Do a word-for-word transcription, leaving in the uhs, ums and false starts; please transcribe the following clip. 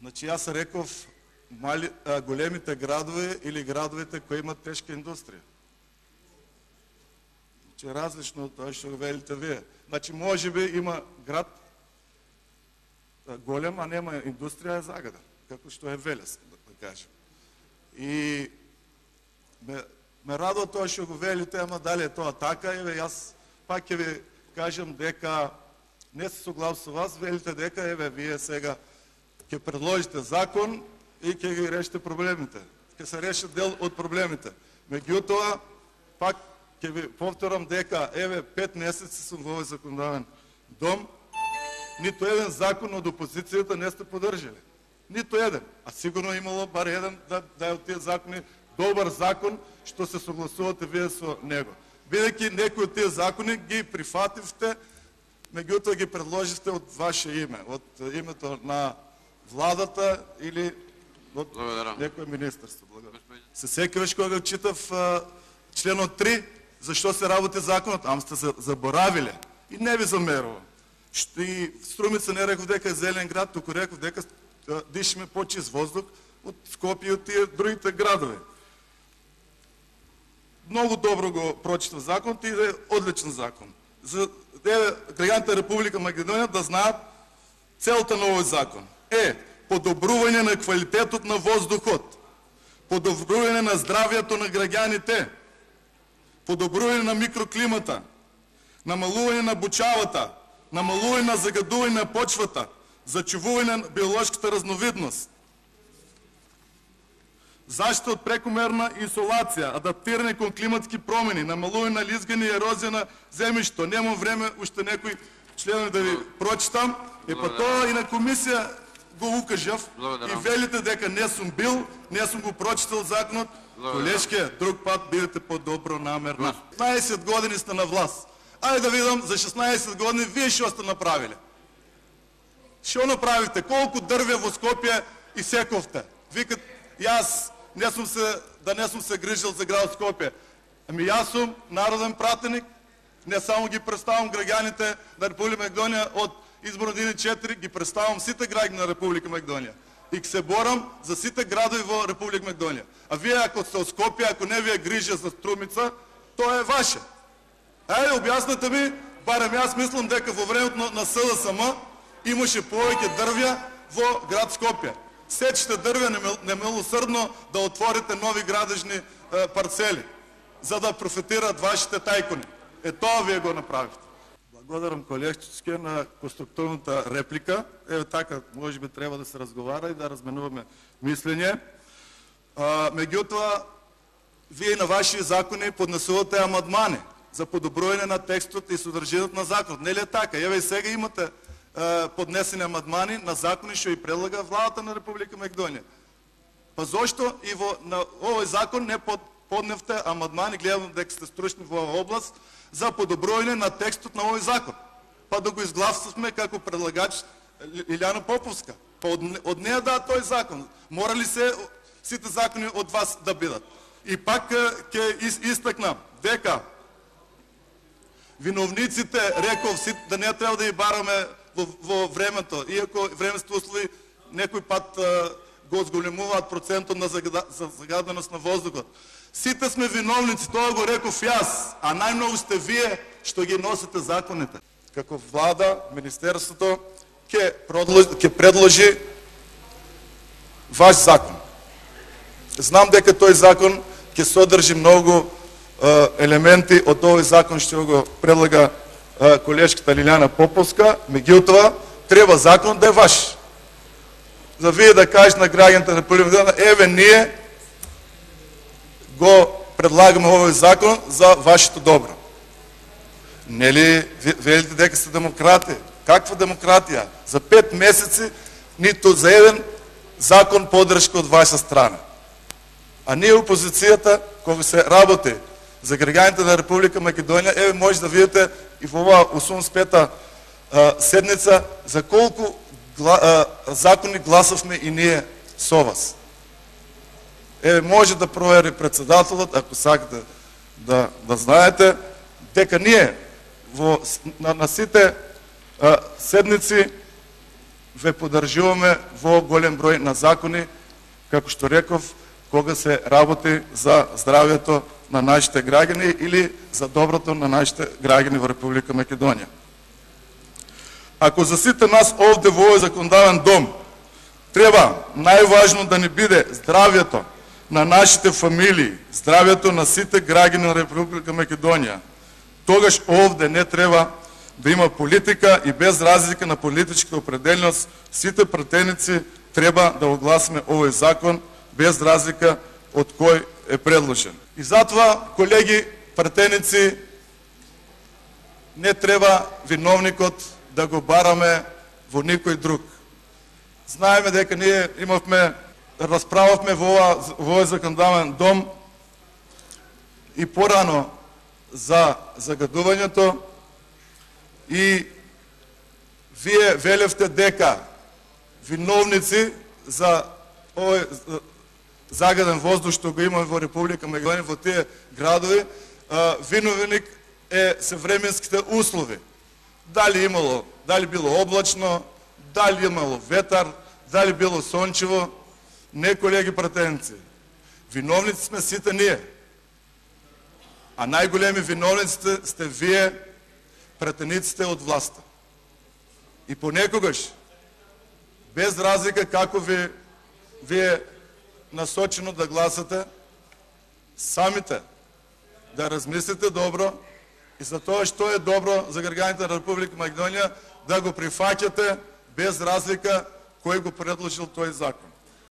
Значи јас реков мали, а, големите градови или градовите кои имат тешка индустрија. Значи различно од тоа што го велите вие. Значи може би има град а, голем, а нема индустрија, е загада, како што е Велес, да кажем. И ме, ме радува тоа што го велите, ама дали е тоа така, еве јас пак ќе ви кажам дека не се согласувам со вас, велите дека еве вие сега ќе предложите закон и ќе ги решите проблемите. Ќе се решат дел од проблемите. Меѓутоа, пак ќе ви повторам дека еве пет месеци сум во овој законодавен дом, ниту еден закон од опозицијата не сте поддржали. Ниту еден. А сигурно имало бар еден да, да е од тие закони добар закон што се согласувате вие со него. Бидејќи некои од тие закони ги прифативте, меѓутоа ги предложивте од ваше име, од името на владата или од некој министерство. Се сеќаваш кога читав а, членот три, зашто се работи законот, ам сте заборавиле и не ви замерувам. И Струмица не реков дека е зелен град, туку реков дека дишиме почист воздух од Скопје и од тие другите градови. Многу добро го прочитав законот и е одличен закон. За граѓаните на Република Македонија да знаат целта на овој закон е подобрување на квалитетот на воздухот, подобрување на здравјето на граѓаните, подобрување на микроклимата, намалување на бучавата, намалување на загадување на почвата, зачувување на биолошката разновидност, заштита од прекомерна изолација, адаптирање кон климатски промени, намалување на лизгање и ерозија на земјишто. Немам време уште некои членови да ви прочитам. И па тоа и на комисија го укажав и велите дека не сум бил, не сум го прочитал законот. Колешке, друг пат бидете по-добро намерна. шеснаесет години сте на власт. Ајде да видам за шеснаесет години вие што сте направиле. Што направите? Колку дрвја во Скопје исековте? Викат, јас не сум се, да не сум се грижил за град Скопје. Ами јас сум народен пратеник, не само ги представам граѓаните на Република Македонија од избор еден и четири, ги представам сите граѓани на Република Македонија. И се борам за сите градови во Република Македонија. А вие ако сте од Скопје, ако не ви е грижа за Струмица, тоа е ваше. Ајде, објаснете ми, барем јас мислам дека во времето на, на С Д С М имаше повеќе дрвја во град Скопје. Сечете дрвја немилосрдно да отворите нови градежни е, парцели, за да профитираат вашите тајкуни. Е тоа вие го направите. Благодарам колешче на конструктивната реплика. Е така, може би треба да се разговара и да разменуваме мислење. Меѓутоа, вие на ваши закони поднесувате амандмани за подобрување на текстот и содржината на законот. Нели е така? Еве и сега имате поднесени амандмани на закони што и предлага владата на Република Македонија. Па зошто и во на овој закон не под, подневте амандмани, гледам дека сте стручни во оваа област, за подобрување на текстот на овој закон? Па да го изгласуваме како предлагач Илјана Поповска. Па од, од неја да тој закон. Мора ли се сите закони од вас да бидат? И пак ќе истакнам дека виновниците, реков, да не треба да ги бараме во, во времето, иако временствите услови некој пат а, го зголемуваат процентот на загаденост на воздухот. Сите сме виновници, тоа го реков јас, а најмногу сте вие што ги носите законите. Како влада, министерството ќе предложи, предложи ваш закон. Знам дека тој закон ќе содржи многу елементи од овој закон што го предлага колешката Лилјана Поповска, меѓутоа треба закон да е ваш. За вие да кажете на граѓаните на Република Македонија, еве ние го предлагаме овој закон за вашето добро. Нели велите дека сте демократи? Каква демократија? За пет месеци ниту за еден закон поддршка од ваша страна. А ние опозицијата, кога се работи за граѓаните на Република Македонија, еве може да видите и во оваа осумдесет и пета седница за колку гла, а, закони гласавме и ние со вас. Еве може да провери председателот, ако сакате да, да знаете, дека ние во, на, на сите а, седници ве поддржуваме во голем број на закони, како што реков, кога се работи за здравјето на нашите граѓани или за доброто на нашите граѓани во Република Македонија. Ако за сите нас овде во овој законодавен дом треба најважно да ни биде здравјето на нашите фамилии, здравјето на сите граѓани на Република Македонија, тогаш овде не треба да има политика и без разлика на политичката определеност, сите пратеници треба да огласиме овој закон без разлика од кој е предложен. И затоа, колеги пратеници, не треба виновникот да го бараме во никој друг. Знаеме дека ние имавме, расправавме во овој законодавен дом и порано за загадувањето и вие велевте дека виновници за овој загаден воздух што го имаме во Република Македонија, во тие градови, виновник е се временските услови. Дали имало, дали било облачно, дали имало ветар, дали било сончево, не, колеги пратеници. Виновници сме сите ние. А најголеми виновниците сте вие, пратениците од власта. И понекогаш, без разлика како ви вие насочено да гласате, самите да размислите добро и за тоа што е добро за граѓаните на Република Македонија, да го прифаќате без разлика кој го предложил тој закон.